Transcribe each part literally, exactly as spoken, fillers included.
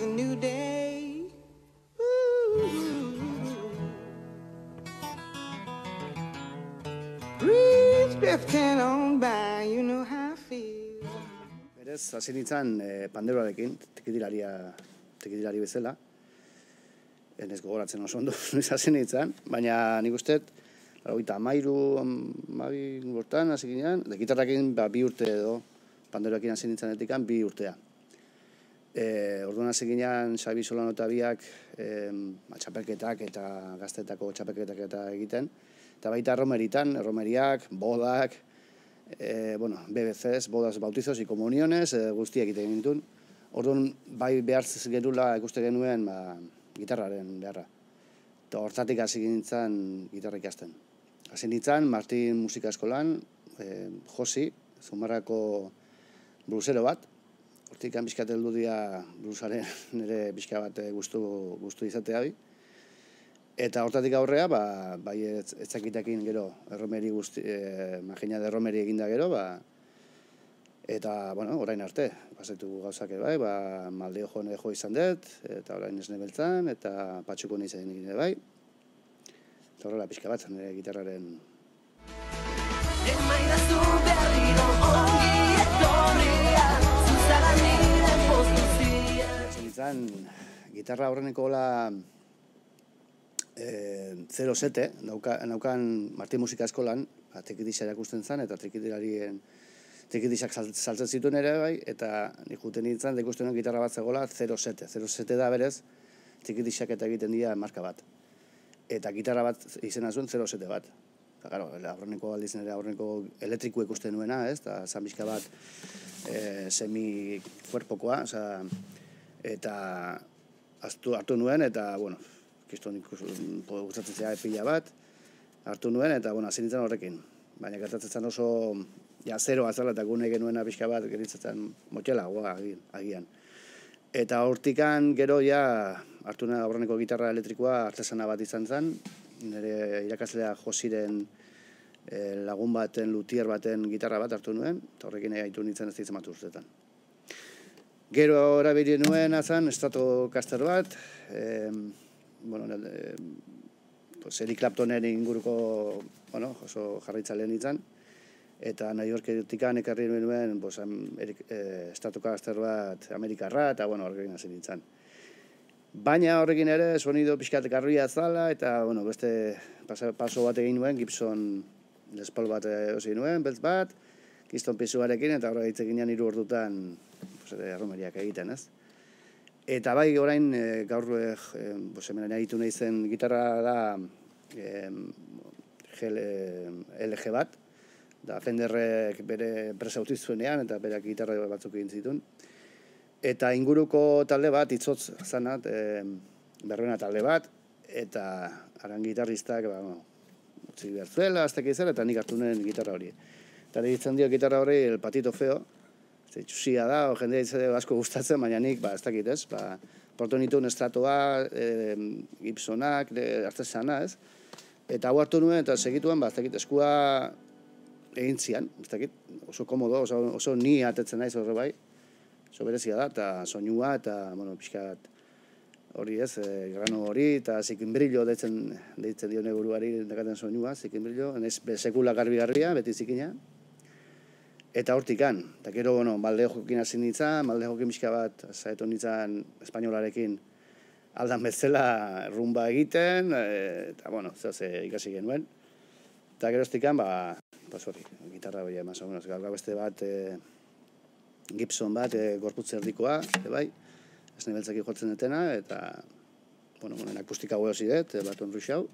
a new day. Breeze drifting on by, you know how I feel. Berez, hasi nintzen eh, panderoarekin, tikitilaria, tikitilari bezala. Ez gogoratzen oso ondo, noiz hasi nintzen, baina nik uste, laurogeita hamairu, hamabi urtean hasi ginen, eta gitarrakin ba, bi urte edo, panderoarekin hasi nintzenetik bi urtea. E, orduan hasi ginen, Xabi Solano eta biak e, txapelketak eta gaztetako txapelketak eta egiten, eta baita romeritan, romeriak, bodak, e, bueno, B B Cs, bodas, bautizos y comuniones, e, guztiak egiten gintuen. Orduan, bai behar genula ikuste genuen, ba, gitarraren beharra. Eta hortatik hasi nintzen gitarra ikasten. Hasi nintzen Martin Musika Eskolan, eh, Josi, Zumarrako blusero bat. Hortik bizkat heldu dira blusaren nire bizka bat gustu, gustu izatea bi. Eta hortatik aurrea, ba, bai etzakitakin gero, erromeri guzti, eh, magina de erromeri eginda gero, ba, eta, bueno, orain arte, pasatu gauzak bai, ba, Maldeo jo nire jo izan dut, eta orain esne beltzan, eta patxuko nintzen egin bai. Eta horrela pixka bat zen nire gitarraren. Zenitzen, gitarra horreneko gola e, zero sete, nauka, naukan Martin Musika Eskolan, ba, trikitisa erakusten zen, eta trikitilarien trikitisak saltzen zituen ere bai, eta nik juten nintzen, da ikusten gitarra bat zegoela zero sete. zero sete da berez, trikitisak eta egiten dira marka bat. Eta gitarra bat izena zuen zero sete bat. Eta, claro, aurreneko aldizen ere aurreneko elektriku ikusten nuena, ez? Eta zanbizka bat e, semi-kuerpokoa, oza, eta hartu, hartu nuen, eta, bueno, kiston gustatzen zera pila bat, hartu nuen, eta, bueno, hasi nintzen horrekin. Baina gertatzen oso, ja, zero azala eta gune genuena pixka bat geritzatzen motxela, goa, agian. Eta hortikan gero ja hartu nuen aurreneko gitarra elektrikoa artesana bat izan zen, nire irakaslea Josiren e, lagun baten, lutier baten gitarra bat hartu nuen, eta horrekin egaitu nintzen ez ditzen bat urteetan. Gero erabili nuen azan, Stratocaster bat, e, bueno, e, pues, Eric Claptonen inguruko, bueno, oso jarraitzaileen nintzen, eta New Yorketikan ekarri nuen pues, eh, Stratocaster bat Amerikarra, eta bueno, horrekin hasi nintzen. Baina horrekin ere, sonido pixkat garria zala, eta bueno, beste paso bat egin nuen, Gibson Les Paul bat osi nuen, beltz bat, Keystone pisuarekin, eta horre hitz eginean hiru ordutan pues, erromeriak egiten, ez? Eta bai, orain, e, gaur e, pues, hemen egitu nahi zen gitarra da e, L G bat, da Fenderrek bere presa utzi zuenean, eta berak gitarra batzuk egin zituen. Eta inguruko talde bat, itzotz zanat, e, berruena talde bat, eta haran gitarristak, ba, no, utzi behar zuela, aztek izela, eta nik hartu nuen gitarra hori. Eta ditzen dio gitarra hori el patito feo, txusia da, o jendea itzade asko gustatzen, baina nik, ba, ez dakit, ez, ba, porto nituen Stratoa, e, Gibsonak, artesana, ez, eta hau hartu nuen, eta segituen, ba, ez dakit, eskua egin zian, ez dakit, oso komodo, oso, oso ni atetzen naiz horre bai, oso berezia da, eta soinua, eta, bueno, pixkat hori ez, e, grano hori, eta zikinbrillo deitzen, deitzen dio neburuari dekaten soinua, zikinbrillo, ez sekula garbi-garria, beti zikina, eta hortikan, eta gero, bueno, Maldeo jokin hasi nintzen, Maldeo jokin pixka bat, zaetu nintzen espainolarekin aldan bezala rumba egiten, e, eta, bueno, zehaz ikasi genuen, eta gero hortikan, ba, pues hori, gitarra hori emaz, gaur beste bat, e, Gibson bat, e, gorputz erdikoa, e, bai, ez nebeltzaki jotzen dutena, eta, bueno, bueno, akustika hau hozi dut, bat onru xau,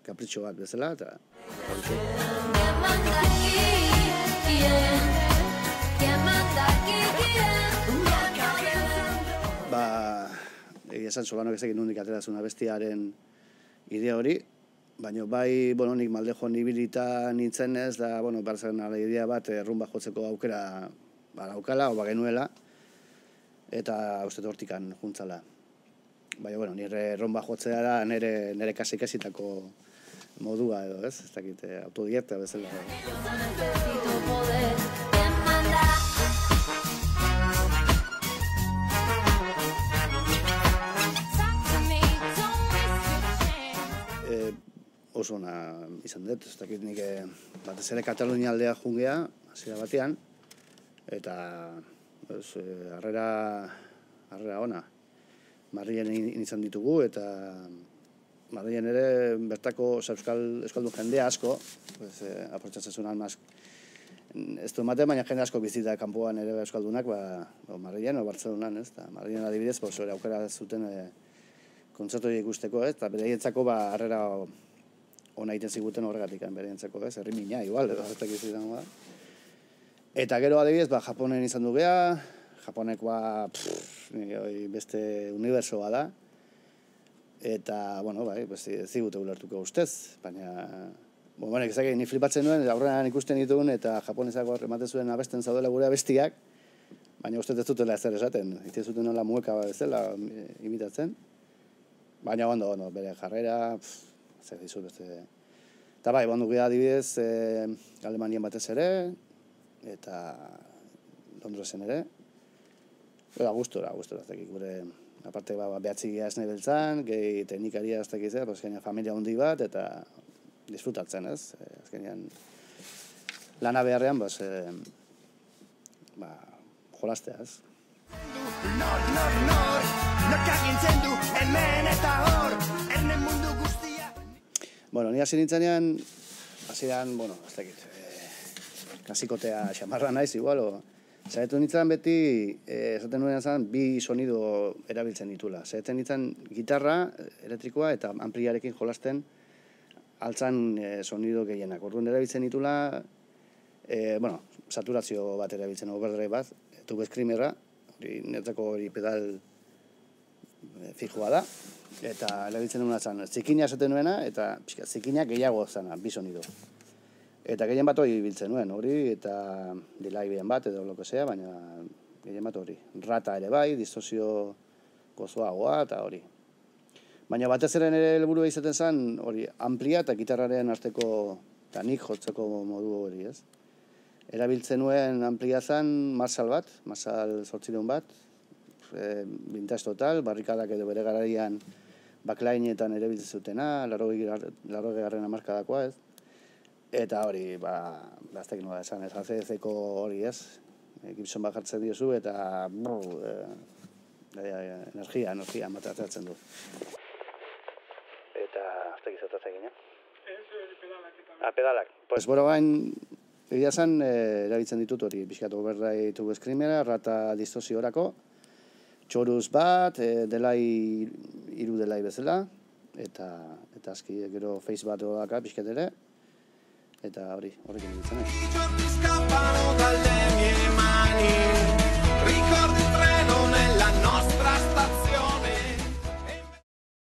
kapritxo bat bezala, eta hori ba, egia esan Solano ezekin nondik aterazuna bestiaren idea hori, baina bai, bueno, nik Maldejo nibilita nintzen ez, da, bueno, barzaren ala idea bat, rumba jotzeko aukera badaukala, o bagenuela, eta uste hortikan juntzala. Baina, bueno, nire rumba jotzea da nire, nire kasik-kasitako modua edo, ez? Ez dakit, autodidakta bezala. oso ona izan dut, ez dakit nik batez ere Katalunia aldea jungea, hasiera batean, eta ez, harrera, harrera ona. Madrilen izan ditugu, eta Madrilen ere bertako euskal, euskaldun jendea asko, pues, eh, aprotxatzen zuen almaz, ez du ematen, baina jende asko bizita kanpoan ere euskaldunak, ba, o Madrilen o Bartzelonan, ez, eta Madrilen adibidez, pues, aukera zuten e, kontzertu ikusteko, ez, eta bereientzako ba, harrera ona egiten ziguten horregatik, bereientzako, ez, herri mina, igual, edo ez dakiz izan da. Eta gero adibidez, ba, Japonen izan du geha, Japonekoa pff, beste unibertsoa da, eta, bueno, bai, ez zigute ulertuko ustez, baina, bueno, ezak, ni flipatzen nuen, aurrean ikusten ditugun, eta japonesako ematen zuen abesten zaudela gure abestiak, baina uste ez dutela ezer esaten, ite zuten nola mueka bezala imitatzen, baina ondo, ondo, bere jarrera, zer dizut, beste... Eta bai, bondu gira adibidez, eh, Alemanian batez ere, eta Londresen ere, eta gustora, gustora, ez dakik, gure, aparte, ba, behatzi gira esne beltzan, gehi teknikaria ez dakik zer, pues, familia handi bat, eta disfrutatzen, ez? Azkenean, lana beharrean, pues, eh, ba, jolastea, ez? Nor, nor, nor, norkagintzen du, hemen eta hor, erne mundu guztia. Bueno, ni hasi nintzenean, hasieran, bueno, ez dakit, eh, klasikotea xamarra naiz, igual, o, zaitu nintzen beti, eh, esaten nuen zan, bi sonido erabiltzen ditula. Zaitu nintzen gitarra, elektrikoa, eta ampliarekin jolasten, altzan e, sonido gehienak. Orduan erabiltzen ditula, e, bueno, saturazio bat erabiltzen, overdrive bat, tube screamerra, hori netzako hori pedal e, fijoa da, eta erabiltzen duna zan, zikina esaten nuena, eta pixka, zikina gehiago zana, bi sonido. Eta gehien bat hori biltzen nuen, hori, eta delay bien bat, edo lo que sea, baina gehien bat hori. Rata ere bai, distosio gozoagoa, eta hori. Baina batez ere nire helburua izaten zen, hori, amplia eta gitarraren arteko, eta nik jotzeko modu hori, ez? Erabiltzen nuen amplia zen Marshall bat, Marshall zortziehun bat, e, vintage total, barrikadak edo bere garaian backlineetan erabiltzen zutena, larrogei garren hamarkadakoa, ez? Eta hori, ba, baztek nola esan, ez, A C D-ko hori, ez? Gibson bat jartzen diozu, eta brr, e, e, energia, energia matatzen du. Eta, ez dakiz eta zegin, eh? pedalak eta... Ah, pedalak. Pues, boro gain, egia zen, eh, erabiltzen ditut hori, pixkat overdrive tube screamera, rata distosiorako, txoruz bat, eh, delay, hiru delay bezala, eta, eta aski, gero face bat daka, pixkat ere, eta hori, horrekin ditzen, eh?